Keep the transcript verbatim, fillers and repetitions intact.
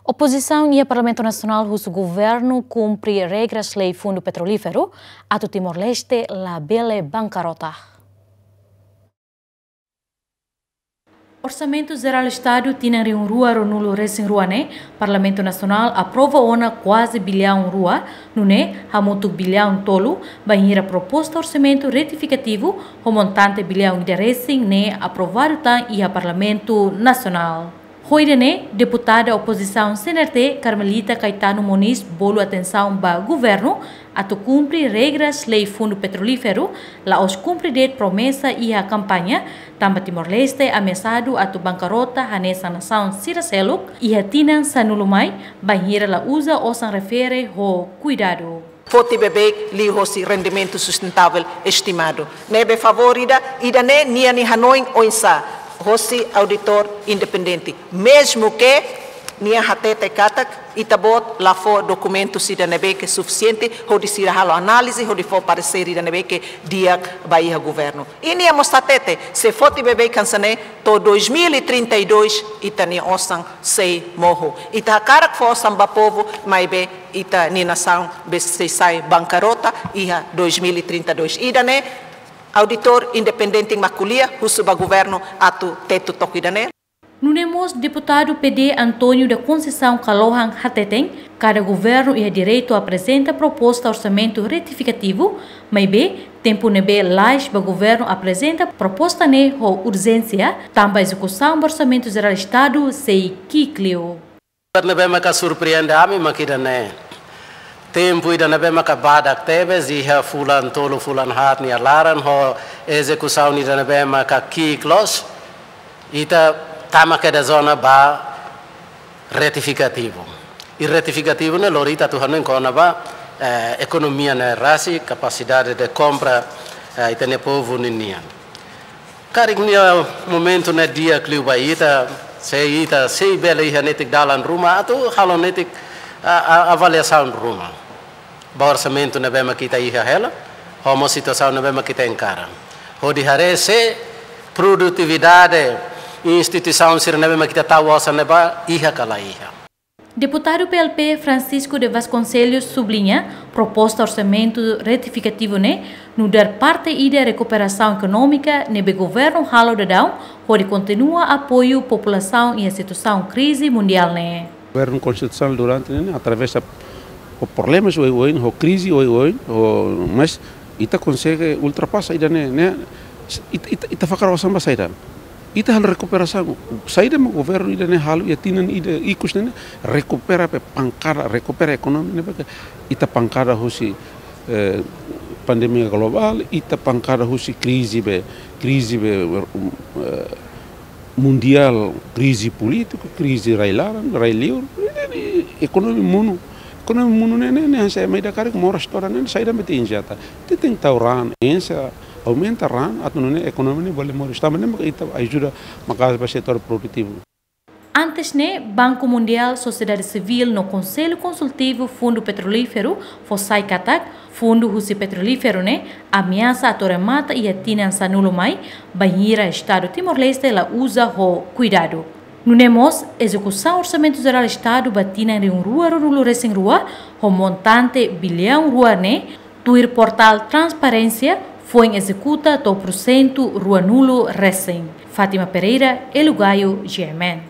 Opozisaun iha Parlamentu Nasionál husu governu kumpre regras lei Fundu Petrolíferu, atu Timor-Leste labele bankarota. Orsamentu Jerál Estadu tinan rihun rua ruanulu resin rua ne'e, Parlamentu Nasionál aprova ona kuaze biliaun rua, nune'e hamutuk biliaun tolu, bainhira proposta orsamentu retifikativu ho montante biliaun ida resin ne'e aprovadu tan iha Parlamentu Nasionál. Ho ida-ne'e, deputada opozisaun C N R T, Carmelita Caetano Moniz, bolu atensaun ba governu atu kumpre regras lei Fundu Petrolíferu, la'ós kumpre de'it promesa iha kampaña, tanba Timor-Leste ameasadu atu bankarota hanesan nasaun sira seluk iha tinan sanulu mai, bainhira la uza osan refere ho kuidadu. Foti beibeik liuhosi rendimentu sustentavel estimadu. Ne'ebé favór ida, ida-ne'e nia nia hanoin oinsá, hosi auditór independente. Mezmu ke nia hatete katak, ita-boot la fó dokumentu sira ne'ebé ke sufisiente, hodi sira halo análize, hodi fó paresér ida ne'ebé ke di'ak ba iha governu. I nia mós hatete, se foti beibeik hanesan ne'e, to'o dois mil e trinta e dois, ita-nia osan sei mohu. Ita hakarak fó osan ba povu, maibé ita-nia nasaun be sei sai bankarota iha dois mil e trinta e dois. Ida-ne'e, auditór independente mak ko'alia, husu ba governu atu tetu took ida-ne'e. Nune'e mós deputadu P D António da Conceição Kalohan hateten, kada governu iha direitu aprezenta proposta orsamentu retifikativu, maibé tempu ne'ebé lais ba governu aprezenta proposta ne'e ho urjénsia, tanba ezekusaun ba Orsamentu Jerál Estadu sei ki'ik liu. Ne'ebé maka surpreende ami mak ida-ne'e. Tempu ida ne'ebé maka badak tebes, iha fulan tolu, fulan haat nia laran, ho ezekusaun ida ne'ebé maka ki'ik loos, ita tama kedas ona ba retifikativu. I retifikativu ne'e lori ita atu hanoin kona-ba, eh, ekonomia ne'e rasik, kapasidade de kompra, eh, ita-nia povu ninian. Karik nia momentu ne'e di'ak liu ba ita, se ita sei bele iha netik dalan ruma, atu halo netik, a, a, avaliasaun ruma ba orsamentu ne'ebé mak ita iha hela, ho mós situasaun ne'ebé mak ita enkara. Hodi haree se produtividade instituisaun sira ne'ebé mak ita tau osan ne'ebá iha ka la iha. Deputadu P L P Francisco de Vasconcelos subliña, proposta orsamentu retifikativu ne'e nu'udar parte ida rekuperasaun ekonómika ne'ebé governu halo daudaun hodi kontinua apoiu populasaun iha situasaun krize mundiál ne'e. Governu konstitusionál durante ne'e atravesa ho problemas oioin, ho krize oioin, ho, mas ita konsege ultrapasa ida-ne'e, ne'e, ita, ita, ita fakar osan ba saida. Ita halo rekuperasaun. Saida mak governu ida-ne'e halo iha tinan ida ikus ne'e, rekupera be pankada, rekupera ekonomia ne'e, be ita pankada husi, eh, pandemia globál, ita pankada husi krize be, krize be, eh, mundiál, krize polítiku, krize rai-laran, rai-liur, ekonomia monu. Ekonomia monu ne'e, ne'e, ne'e, hanesan ema ida karik moras todan ne'e, saida mak ita injeta. Ita tenke tau raan, enxe, aumenta raan, atu nune'e ekonomia ne'e bele moris. Tanba ne'e maka ita ajuda maka'as ba setór produtivu. Antes ne'e, Banku Mundiál, sosiedade sivíl no Konsellu Konsultivu Fundu Petrolíferu fó sai katak, fundu husi petrolíferu ne'e ameasa atu remata iha tinan sanulu mai, bainhira Estadu Timor-Leste la uza ho kuidadu. Nune'e mós, ezekusaun Orsamentu Jerál Estadu ba tinan rihun rua ruanulu resin rua, ho montante biliaun rua ne'e, tuir portál Transparénsia, foin ezekuta to'o pursentu ruanulu resin. Fátima Pereira, Elu Gayo, G M N.